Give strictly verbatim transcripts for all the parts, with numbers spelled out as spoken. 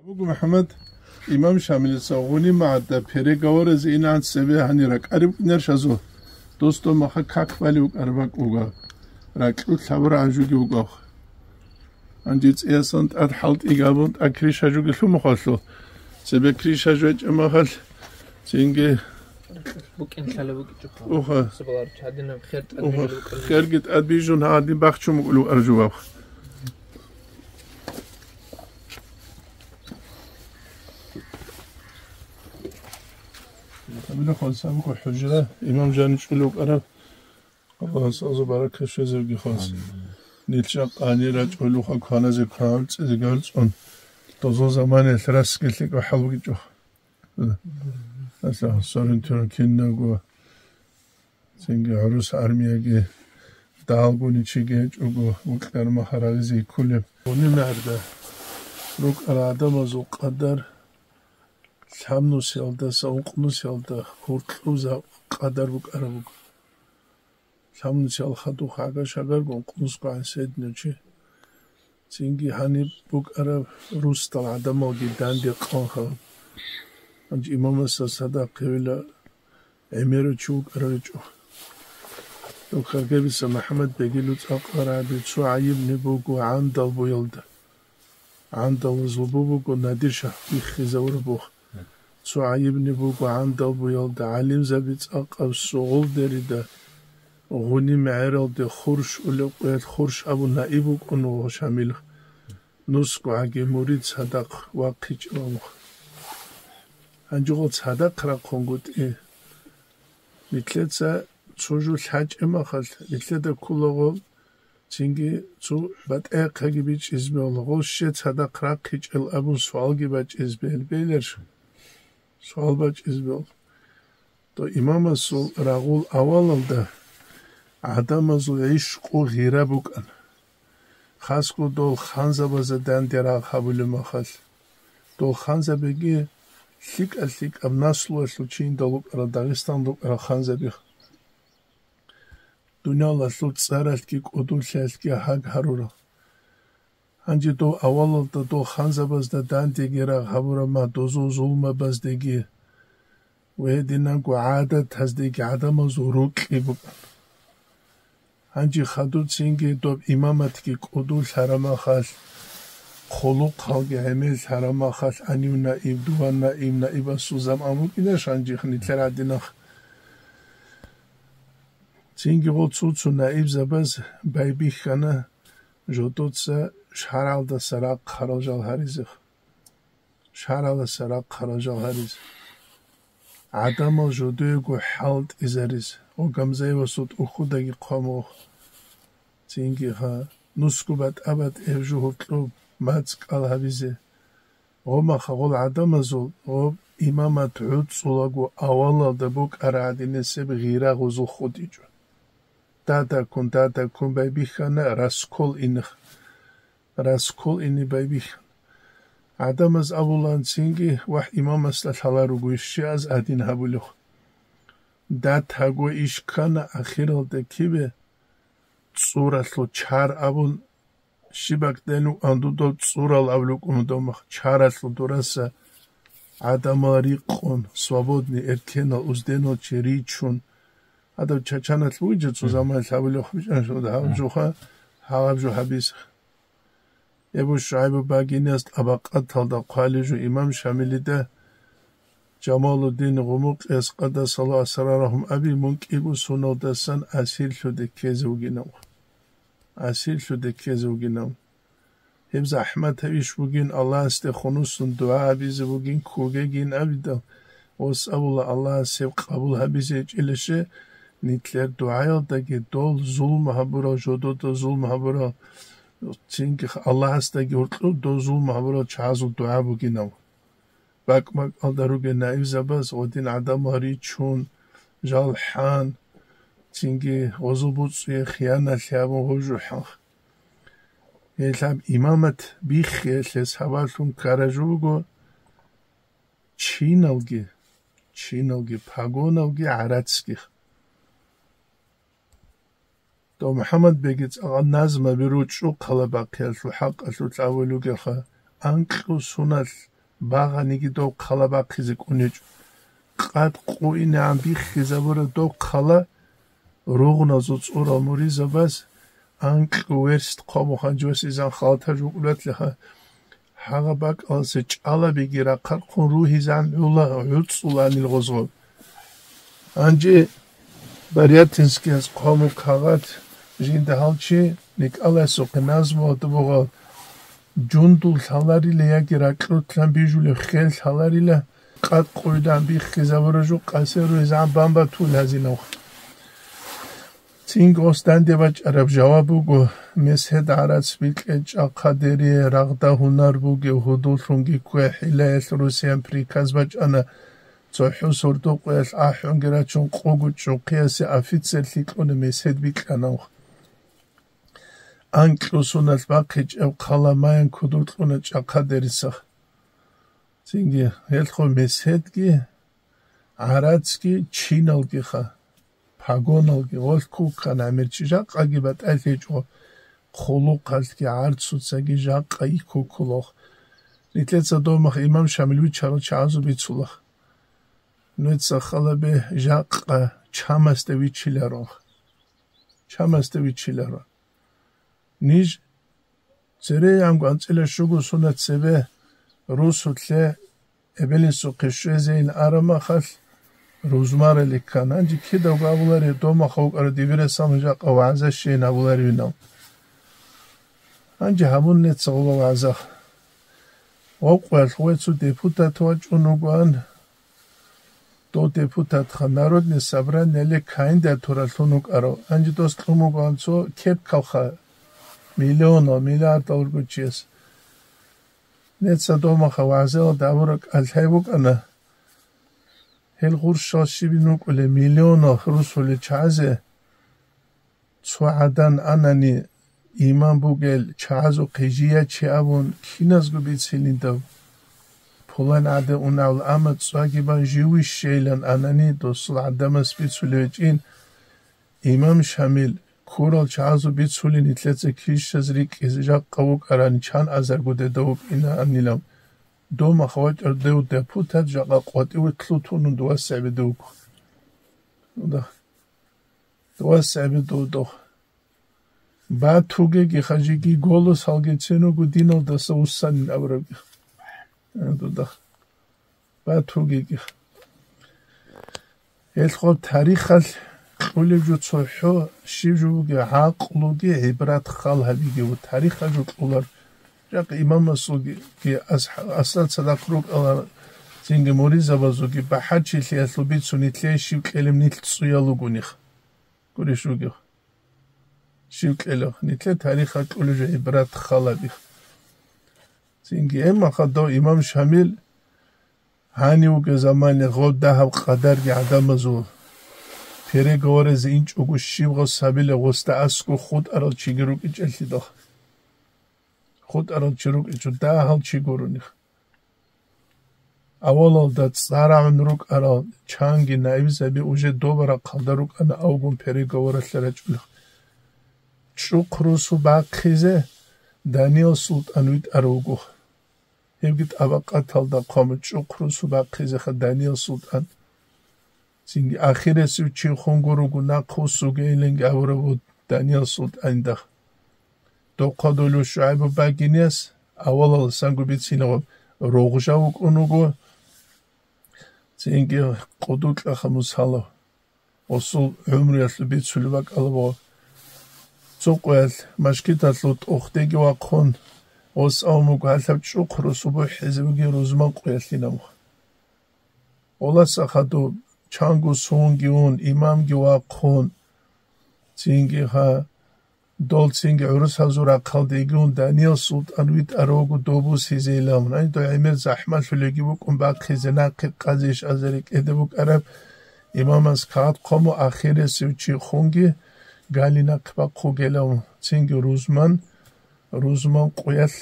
Абуго МухӀаммад, имам Шамилица гъуни магӀарда переговоразе инаан цебе гьанир ракӀариб кӀинаршазул, дос дов маха как балев вукӀараб бакӀ вугав, ракьулъ гьабурагӀан жуги вугавха. Гьанже цӀиясан тӀад хӀалтӀи габун, тӀад крыша жуги лъумухъалъул, цебе крыша жвечӀеб махалъ, цинги БукӀин лъала букӀичӀо. Уха. Сабалар чадинаб хер тӀад Уха. бижун букӀин. Херги тӀад бижун гьадин бахчун букӀулев аржував. Амина хон сабуко хӀужра, имам жани чӀулев вукӀараб. Аллагьас азу баракат щвезевги хос. Нилча къани рачӀулуха кваназе кванцӀизе галцӀун. Дозо заманиялъ расги лъикӀав хӀал бугичӀо. Аса сорин туран кинаго, цинги гӀурус армияги, далгуни чиги гьечӀого, вукьар махарагъизе кколеб. Гъуни мегӀерда рукӀара гӀадамазул къадар лъабнусиялдаса ункънусиялда гьуркьузаб къадар букӀараб буго. Лъабнусиялха духъ гӀага-шагарго ункънусго гӀан седнав чи. Цинги гьаниб букӀараб русдал гӀадамалги данде къанха. Гьанже имамасда садахъ гьевила гӀемерав чи вукӀарав гьечӀо. Дов Каргабица МухӀаммад бегилу цӀакъ варагӀаби цо гӀайибни буго гӀандал буялда. ГӀандал зулбу буго Надир-шагь биххизавураб бух. Цо гӀайибни буго гӀандал буялда гӀалимзаби цӀакъаб Сугъулдерида, гъуни мегӀералде хурш улеб къоялъ хурш абун наиб вукӀун вуго Шамил. Нусго гӀаги мурид цадахъ вахъичӀеб абун. Гьанжего цадахъ рахъунгутӀи. Нилъеца цо жо лъачӀеб махалъ, нилъеда кколаго, цинги цо батӀа-яхъаги бичӀчӀизе бегьула, гъо, щай цадахъ рахъичӀел абун суалги бачӀизе бегьил-, бегьиларищ? Суал бачӀизе бегьула. То имамасул рагъул авалалда гӀадамазул гӀишкъу гъира букӀана. Хасго дол ханзабазда данде рагъ гьабулеб махалъ. Дол ханзабиги лъикӀа-лъикӀаб наслуялъул чи индал рукӀарал, Дагъистан рукӀарал ханзаби. Дуниялалъул цӀаралъги кӀудулъиялъги гьаг гьарурал. Гьанже дов авалалда дол ханзабазда дандеги рагъ гьабураб ма дозул зулмабаздеги ва гьединанго гӀадатаздеги гӀадамазул рукьи букӀана. Гьанже хадуцинги доб имаматги кӀудулъ гьарамахалъ, хъулухъалги гӀемел гьарамахалъ, гьанив наиб, дуван наиб, наибасул заман букӀинаш гьанжех нилъер гӀадинах. Цинги гъо цо-цо наибзабаз байбихьана жодоца шаргӀалдаса рахъ гьарал жал гьаризех. ШаргӀалдаса рахъ гьарал жал гьаризе. ГӀадамал жодоего хӀалтӀизаризе, ва Гамзаевасул тӀухьудаги хъвамух. Цинги гьа, нусго батӀа-батӀияб жугьур кьоб мацӀ кӀал гьабизе. Гъомаха гъол гӀадамазул гъоб имамат гӀуцӀулаго авалалда букӀара гӀадинесеб гъира гъузул хутӀичӀо. Дадаккун, дадаккун байбихьана раскол инех. Раскол ине байбихьана. ГӀадамаз абуланцинги вагь имамасда лъала руго щиаз гьадин гьабулев. Датаго иш ккана ахиралда кибе цӀуралъул чар абун, щибакденив андудав цӀурал абулукӀун домах чаралъул дураса гӀадамал рикъун, свободный эркенал узденал чи ричун, гьадав Чачаналъ вугича цо заманалъ гьабулев хъвичӀанщинал гьаб жоха, гьаб жо гьабиз. Эбу ШугӀайбу Багиниялъ тӀабакъаталда хъвалев жо имам Шамилида Жамалуддин Гъумукъияс къадасаллагьу асрарагьум аби мун кӀиго соналдасан асирлъуде ккезе вугинав. Асирлъуде ккезе вугинав. Гьеб захӀматаб иш бугин, Аллагьасде хунусун дугӀа гьабизе бугин, ккогегин абидал, ос абула Аллагьас гьеб къабул гьабизе гьечӀилаше, нилъер дугӀаялдаги дол зулм гьабурал, жодода зулм гьабурал, цинги Аллагьасдаги гьоркьоб дол зулм гьабурал чагӀазул дугӀа бугинав. БакӀ-бакӀалда ругел наибзабаз гъодин гӀадамал ричун, жал хӀан, цинги гъозул буцӀцӀуе хияналъи гьабун гъожухӀанха. Гьелъаб имамат биххиялъе сабаблъун ккараб жо буго чиналги, чиналги, погоналги гӀарацги. Дов МухӀаммадбеги цӀакъ назмаби ручӀухъала бахъиялъул хӀакъалъулъ абулугеха, анкьу суналъ багъаниги дов хъала бахъизе кӀунечӀо. Къад къуинегӀан биххизабура дов хъала ругъназул цӀурал муризабаз, анкьу верст хъомухъан жосизан халтар жукӀулатлъиха. Гьагъа бакӀаласе чӀалабиги рахъархъун ругьизан гӀула гӀуцӀуланил гъозгъоб. Гьанже Барятинскияс хъому кагъат жинда гьалчи Николайсухъе назмуялда бугъал: «Жундул лъаларила яги ракьулъан бижулев хел лъаларила, къад къуйдан биххизабура жу къасе ругьизан бамбатул гьазинавха». Цинги ос данде бачӀараб жаваб буго: «Месед гӀарац бикье чӀахъадерие рагъда гьунар бугев гьудуллъунги ккве хӀилаялъ Русиян приказ бачӀана, цохӀо сордо къоялъ ахӀунги рачун къого чӀухъиясе офицер лъикӀуна месед бикьанавха». Анкьусуналъ бахъичӀеб хъала маян кудур кьуна чӀахъадерисах. Цинги гьелхъо меседги, гӀарацги, чиналгиха, погоналги, гъолъ куккан гӀемер чи жакъаги батӀалъи гьечӀо, хъулухъалъги гӀарцуцаги жакъа йиккуккулах. Нилъеца домах имам Шамил виччарал чагӀазу бицулах. Нуца халабе жакъа чамасда виччиларо. Чамасда виччиларо. Ниж церейанго анцӀила щуго сунат цебе русулъе эбелинсухъе щвезейин арамахалъ рузмарали ккан. Гьанже кидаго абуларев домахъ вукӀарав дибирасан жакъа вагӀза щейин абуларевинав. Гьанже гьабун нецагъула вагӀза. Гъокъоялъ гъой цо депутат вачӀун вугоан. Дов депутатха Народный собранияле кандидатуралъун вукӀарав, гьанже дос кьун вугоан цо кепкалха, миллионал, миллиардал руго чияс. Неца домаха вагӀзаялда абураб кӀалъай букӀана. Гьел гъурщал щибин вукӀулеб миллионал русулел чагӀазе цо гӀадан анани, имам бугел чагӀазухъе жия чи абун киназго бицилин дав? Пулан гӀаде унавла, амма цӀваги бан живищейилан анани, досул гӀадамас бицулев гьечӀин, имам Шамил, ккурал чагӀазу бицулин нилъеца кищаз рикӀкӀизе жакъа вукӀарани, чан азарго деда вукӀина анилав. Домах вачӀар дев депутат жакъа къватӀиве лъутун дувас гӀебеде вуго. Дувас гӀебеде вуго. Батугеги хажиги голос гьалгецин вуго диналдаса вуссанин абурабги. Дуда. Батугеги. Гьелхъо тарихалъ кьулеб жо цохӀо, щиб жо буги, гӀакълуги гӀибрат хал гьабиги ва тарихалъ жо кьулар. Жакъа имамасулги ас-, асла цадахъ рукӀала, цинги муризабазулги бахӀарчилъиялъул бицун нилъее щиб кьелеб нилъ цӀуял ругоних. Гурищ вугев. Щив кьелев? Нилъер тарихалъ кьулеб жо гӀибрат хал гьабих. Цинги гьебмаха дов имам Шамил гьанив вугев замане гъов дагьаб къадарги гӀадамазул переговоразе инчӀого щиб гъос гьабила гъосда аскӀо хутӀарал чиги рукӀичӀелъидал. ХутӀарал чи рукӀичӀо дагьал чи гуроних. Авалалда цӀарагӀун рукӀарал чанги наибзаби уже доба рахъалда рукӀана авгун переговоралъе рачӀулел. ЧӀухъ русу бахъизе Даниял султӀан витӀарав вуго. Гьебги тӀабакъаталда хъван чӀухъ русу бахъизеха Даниял султӀан. Цинги ахирасев чи хун гуруго нахъ вуссугейиланги абураб буго Даниял султӀанидахъ. Дохъа долев ШугӀайбу багинияс авалаласанго бицинав рогъжа вукӀун вуго, цинги къудукьаха Мусалав, осул гӀумруялъул бицулеб бакӀалаб. Цо къоялъ машгидалъул тӀохдеги вахъун, ос авун вуго гьалъаб чӀухъ русу бухӀизе бугин рузман къоялъинав. Оласа хадуб, чанго сунги ун, имамги вахъун, цинги ха, дол цинги гӀурусазул рахъалдеги ун, Даниял султӀан витӀаравго добусизейилан. Гьанидо гӀемер захӀмалъулеги букӀун бахъизе нахъе къазе иш азари кӀеде букӀараб имамас кагъат хъому ахиресев чи хунги гали нахъе бахъугелав, цинги рузман, рузман къуялъ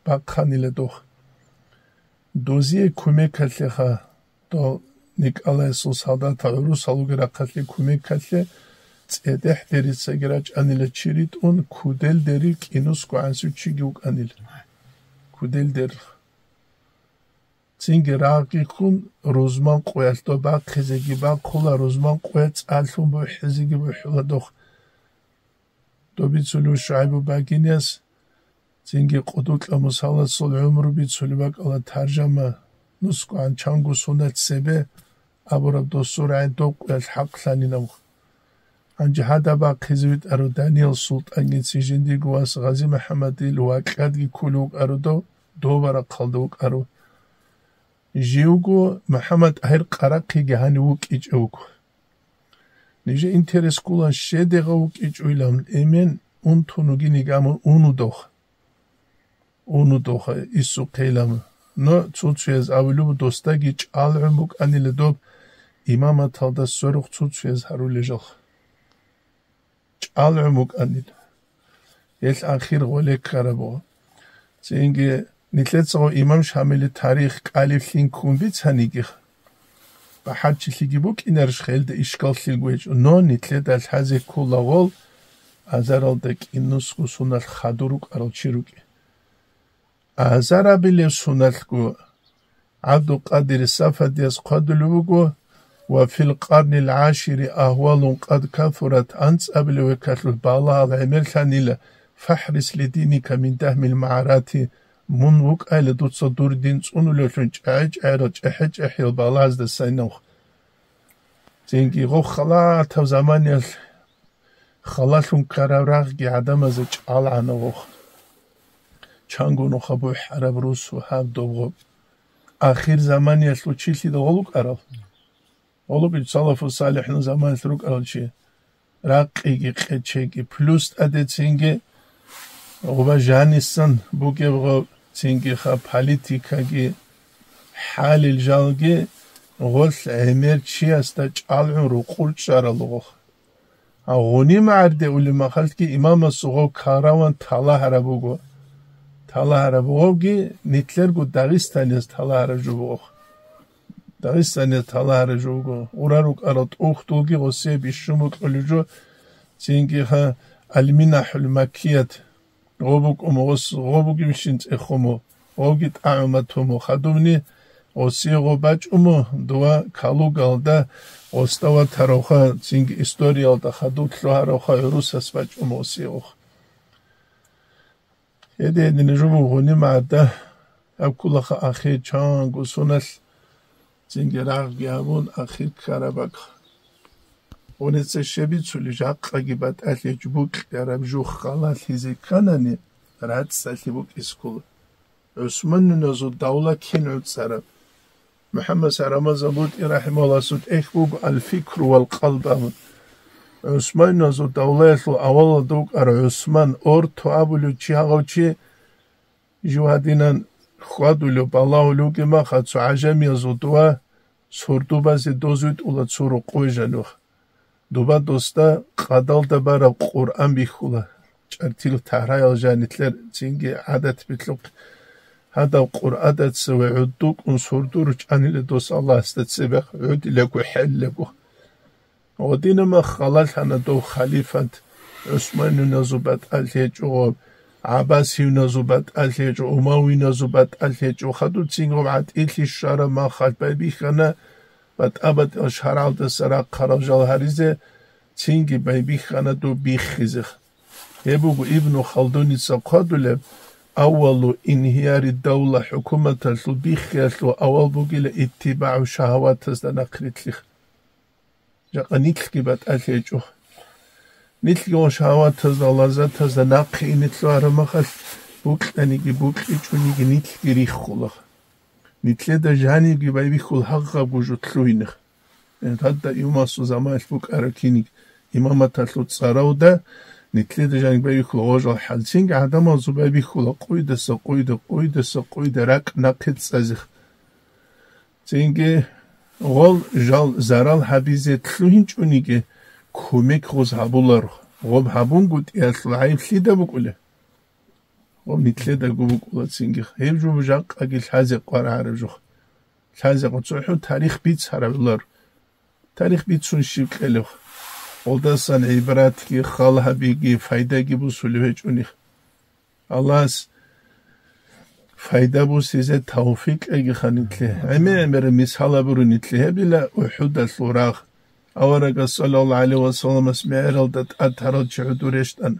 бахъанила дох. Дозие кумекалъеха, дол Николайсул солдатал гӀурусал вугеб рахъалъе кумекалъе цӀедехӀ дерицаги рачӀанила чи ритӀун, кудел дери кӀинусго гӀансив чиги вукӀанила. Кудел дер. Цинги рагъги ккун, рузман къоялъ доб бахъизеги бахъула, рузман къоялъ цӀалъун бухӀизеги бухӀула дох. Доб бицулев ШугӀайбу Багинияс, цинги Къудукьаб Мусаласул гӀумру бицулеб бакӀала таржама, нусгогӀан чанго суналъ цебе абураб досул рагӀи доб къоялъ хӀакълъанинаб. Гьанже гьадаб бахъизе витӀарав Даниял султӀангицин жиндирго вас Гъази-МухӀаммадил вакьадги кколев вукӀарав дов, доб рахъалда вукӀарав. Живго МухӀаммад-ТӀагьир Къарахъиги гьанив вукӀичӀев вуго. Нижер интерес ккола щедегъав вукӀичӀойилан, эмен унтун вугиниг амун унудох. Унудоха исухъейилан. Но цуцуяз абулеб досдаги чӀалгӀун букӀанила доб имаматалда сверухъ цуцуяз гьарулел жалха. ЧӀалгӀун букӀанила. Гьелъ ахир гъоле ккараб буго. Цинги нилъецаго имам Шамилил тарих кӀалиблъин ккун бицаниги, бахӀарчилъиги букӀинарищ, хелда ишкаллъиги гьечӀо, но нилъеда лъазе ккола гъол азаралда кӀинусго суналъ хадур рукӀарал чи рукӀи. Азар абилеб суналъго ГӀабдулкъадир Сафадияс хъвадулеб буго: «Ва фил къарнил гӀашири агьвалун къад кафурат», анцӀабилеб векалъулъ балагьал гӀемерлъанила: «Фахрис лидиника мин дагьмил магӀарати», мун вукӀайла дуца дур дин цӀунулевлъун чӀегӀи-чӀегӀирал чӀехӀе-чӀехӀиял балагьазда сайнавха. Цинги гъов халатав заманиялъ халалъун ккараб рагъги гӀадамазе чӀалгӀана гъов. Чанго нуха бухӀараб русу гьаб доб гъоб. Ахир заманиялъ училъида гъолукӀарал? ГъолукӀи салафу салихӀун заманиялъ рукӀарал чи. Ракъиги къечеги, плюс тӀадецинги гъуба жанисан бугеб гъоб, цинги ха политикаги, хӀалил жалги гъолъ гӀемер чиясда чӀалгӀун рукъур чӀарал гъох. Гъуниб магӀарде улеб махалъги имамасул гъов караван талагьараб буго. Талагьараб гъовги нилъерго Дагъистанияз талагьараб жо буго. Дагъистанияз талагьараб жо буго. Гъура рукӀарал тӀухьдулги гъосие бищун букӀулеб жо, цинги ха Алминахул Маккият. Гъо букӀун гъос, гъо бугебщин цӀехумо, гъоги тӀагӀума тумо хадубни, гъосие гъо бачӀумо, дова Калугалда гъосда ватаравха, цинги историялда хадуб лъугьаравха гӀурусас бачӀумо гъосие гъох. Гьедин-гьедин жо бугони магӀарда, гьаб кколаха ахир чанго суналъ, цинги рагъги гьабун, ахир ккараб бакӀ. Гъуница щебицули, жакъаги батӀалъи гьечӀ букьараб жух халалъизе кканани, рацӀцӀалъи букӀискула. ГӀусманнуназул давла кин гӀуцӀараб? МухӀаммад Рамазан БутӀи рахӀимагьуллагьасул тӀехь буго «Аль-фикру вал-къалб» абун. ГӀусманнуназул давлаялъул авалалда вукӀарав ГӀусман, орто абулев чи гьагъав чи, жив гьадинан хьвадулев, балагьулев вугеб махалъ цо гӀажамиязул дова сордо базе доз витӀула цо рокъове жанив. Доба досда къадалда бараб Къуръан бихьула. ЧӀартил тагьраял жанилъер цинги гӀадат билъухъ. Гьадаб Къуръадаца ва гӀуддукӀун сордо ручӀанила дос Аллагьасда цебе гӀодилаго хӀеллаго. Гъодинаб мах халалъана дов халифат, ГӀусманнуназул батӀалъи гьечӀого, ГӀаббасиюназул батӀалъи гьечӀо, Умавиназул батӀалъи гьечӀо, хадуб цинги гъоб гӀатӀилъи щвараб махалъ байбихьана батӀа-батӀиял шаргӀалдаса рахъарал жал гьаризе, цинги байбихьана доб биххизе. Гьеб буго Ибну Халдуница хъвадулеб: «Аввалу инхияри давла», хӀукуматалъул биххиялъул авал бугила иттибагӀу шагьаватазда нахърилълъи. Жакъа нилъги батӀалъи гьечӀо. Нилъги ва шагьаватазда, лаззатазда нахъе ине лъугьараб махалъ, букьаниги букьичӀониги нилъги риххула. Нилъеда жанибги байбихьул гьагъабго жо лъугьине. Гьадда имамасул заманалъ букӀараб киниг имаматалъул цӀаравда нилъеда жаниб байбихьула гъожал хӀал. Цинги гӀадамазул байбихьула къойдаса къойда, къойдаса къойда ракӀ нахъе цӀазе. Цинги гъол жал зарал гьабизе лъугьинчӀониги, кумек гъоз гьабуларо. Гъоб гьабунгутӀиялъул гӀайиб лъида букӀулеб? Гъоб нилъедаго букӀула цинги. Гьеб жо жакъаги лъазе къваригӀараб жо. Лъазе къо-, цохӀо тарих бицарабилар. Тарих бицун щиб кьелеб? Гъолдасан гӀибратги, хал гьабиги, файдаги бусулеб гьечӀони. Аллагьас пайда бусизе тавфикъ кьегиха нитлъе. ГӀемер-гӀемер мисал абури нитлъе гьебила УхӀудалъул рагъ. Аварагас саллаллагьу гӀалайгьи ва салламас мегӀералда тӀад тарал чи гӀодов рещтӀана.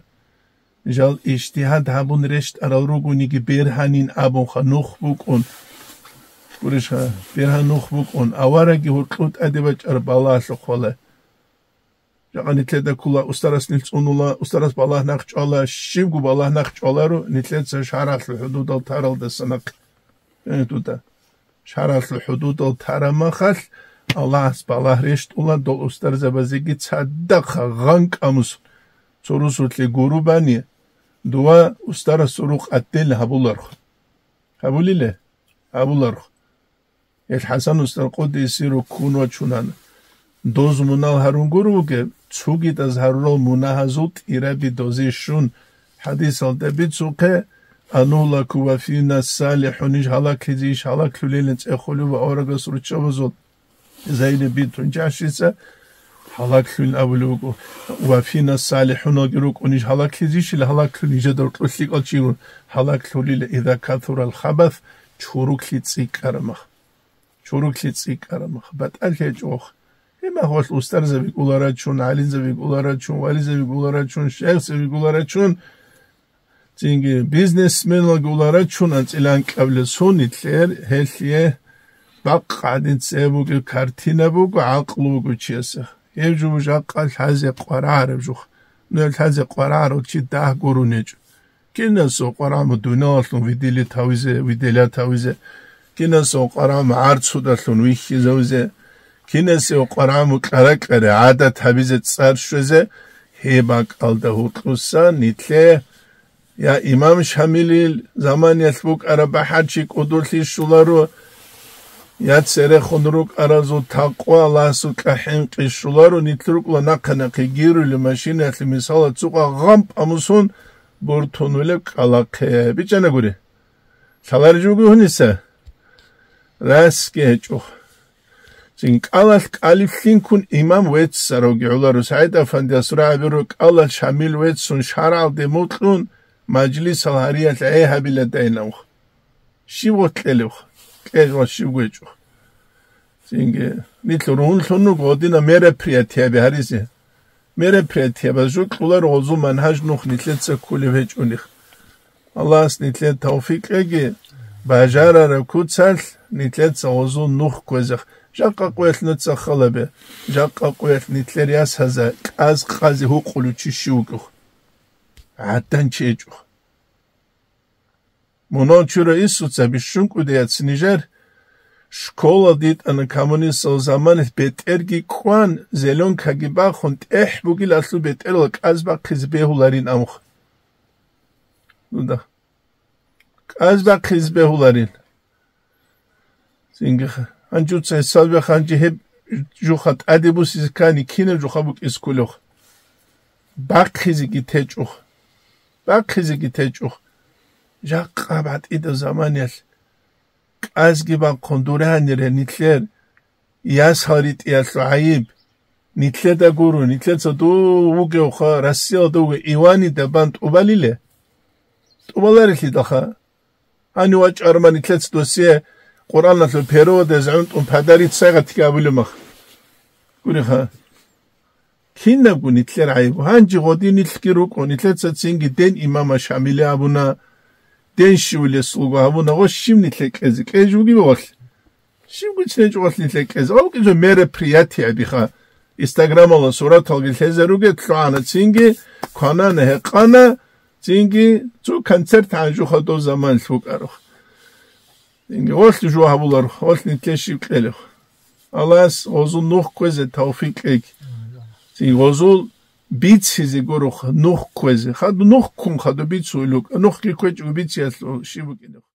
Жал ижтигьад гьабун рещтӀарал ругониги бергьанин абунха нух букӀун. Гурищха, бергьан нух букӀун, авараги гьоркьов тӀаде бачӀараб балагьалъухъ вала. Жакъа нитлъеда ккола, устарас нилъ цӀунула, устарас балагь нахъ чӀвала, щибго балагь нахъ чӀваларо, нитлъеца шаргӀалъул хӀудудал таралдаса нахъ. Э, дуда. ШаргӀалъул хӀудудал тарамахалъ Аллагьас балагь рещтӀула, дол устарзабазеги цадахъа гъанкӀамус цо русулъе гурубани, дова устарасул рукъ атӀел гьабуларх. Гьабулиле? Гьабуларх. Гьел ХӀасан устар къуддиса сирругьу ккун вачунана. Доз мунагь гьарун гуро вугеб, цугидаз гьарурал мунагьазул тӀираби дозе щун, хӀадисалда бицухъе, «Анугьлаку ва фина салихӀун», иш гьалаклъизе, иш гьалаклъулелин цӀехолев ва аварагас руччабазул Зайнаб бинту Жахшица гьалаклъулин абулеб буго, ва фина салихӀуналги рукӀун, иш гьалаклъизищила гьалаклъулин, нижеда рокьулъ лъикӀал чи гун гьалаклъулила, иза касурал хабас, чуруклъи цӀикӀкӀарамах. Чуруклъи цӀикӀкӀарамах. БатӀал гьечӀо. Гьеб мехалъ устарзаби гуларачун, гӀалимзаби гуларачун, вализаби гуларачун, шайихзаби гуларачун, цинги бизнесменалги гуларачун анцӀила анкьабилеб сунетлъер, гьелъие бакъ гӀадин цебе бугеб картина буго, гӀакълу буго чиясе. Гьеб жо жакъа лъазе къварагӀараб жух. Ну, гьеб лъазе къварагӀарав чи дагь гурун гьечӀо. Кинасев къварагӀму дуниялалъун виделит гьавизе, виделят гьавизе, кинасев къварагӀму гӀарцудалъун вихьизавизе, кинасев къварагӀму кьара-кьари гӀадат гьабизе, цӀар щвезе, гьеб бакӀалда гьоркьоса нитлъе, я имам Шамилил заманиялъ букӀараб бахӀарчи кӀодолъи щоларо, я церехун рукӀаразул такъва Аллагьасукьа хӀинкъи щоларо, нитлъ рукӀула нахъа-нахъе гирули машинаялъе мисала цукъа гъампӀа мусун, бортун вилеб кӀкӀалахъе. БичӀчӀана гури. Лъалареб жо буго гьуниса? Расги гьечӀо. Цин кӀалалъ кӀалиблъинккун имам веццаравги гӀоларо. СагӀид-афандияс рагӀабиро, кӀалалъ Шамил веццун шаргӀалде мукьун, мажлисал гьариялъ гӀей гьабиладайинав. Щив гъоркь кьелев? Кьел ва щив гьечӀо. Цинги, нилъ ругьунлъун руго гьодина мероприятияби гьаризе. Мероприятиябаз жо кьоларо гъозул манхӀаж нух нилъеца кколеб гьечӀони. Аллагьас нилъее тавфикъ кьеги, бажарараб куцалъ нилъеца гъозул нух кквезех. Жакъа къоялъ нуца халабе, жакъа къоялъ нилъер ясаза кӀаз къазе гьукъулев чи щив вукӀух? ГӀадан чи гьечӀо. Мунал чура Исуца бищун кӀудияц нижер, школа дитӀана коммунистал заманалъ бетӀерги кӀван, зеленкаги бахун, тӀехь бугилалъул бетӀерала кӀаз бахъизе бегьуларин амуха. Нуда. КӀаз бахъизе бегьуларин. Цинги ха-, гьанжуца гьесабе ханжи гьеб жуха тӀаде бусизе ккани, кинаб жуха букӀиз кколех? Бахъизеги течӀух. Бахъизеги течӀух. Жакъа батӀидаб заманиялъ кӀазги бахъун дуранире нилъер ясал ритӀиялъул гӀайиб. Нилъеда гуро, нилъеца дов вугевха, Россиялда вугев Иванида бан тӀубалиле? ТӀубаларелъидалха. Гьанив вачӀарман нилъеца досие Къуръаналъул переводез гӀунтӀун подарить сайгъатги абулеб мах. Гуриха. Кинабго нилъер гӀайиб. Гьанже гъодин нилъги рукӀо, нилъеца цинги ден имама Шамиле абуна, ден щивулесулго абуна, гъо щив нилъе кьезе? Кьеж вугеб валъ? Щивго чӀинечӀо валъ нилъе кӀезе? Гъав кӀизо мероприятие абиха. Инстаграмалда сураталги лъезе ругел, лъугӀана цинги, кванана гьекъана, цинги цо концерт гьанжуха дов заман лъукӀарухъ. Цинги гъолъ жо гьабуларухъ, гъолъ нилъе щив кьелехъ. Аллагьас гъозул нух кквезе тавфикъ кьеги. Цинги гъозул бицизе гурухъ нух кквезе. Хадув нух ккун, хадув бицуе лукӀа. Нухги кквечӀого бициялъул щиб букӀинехъ?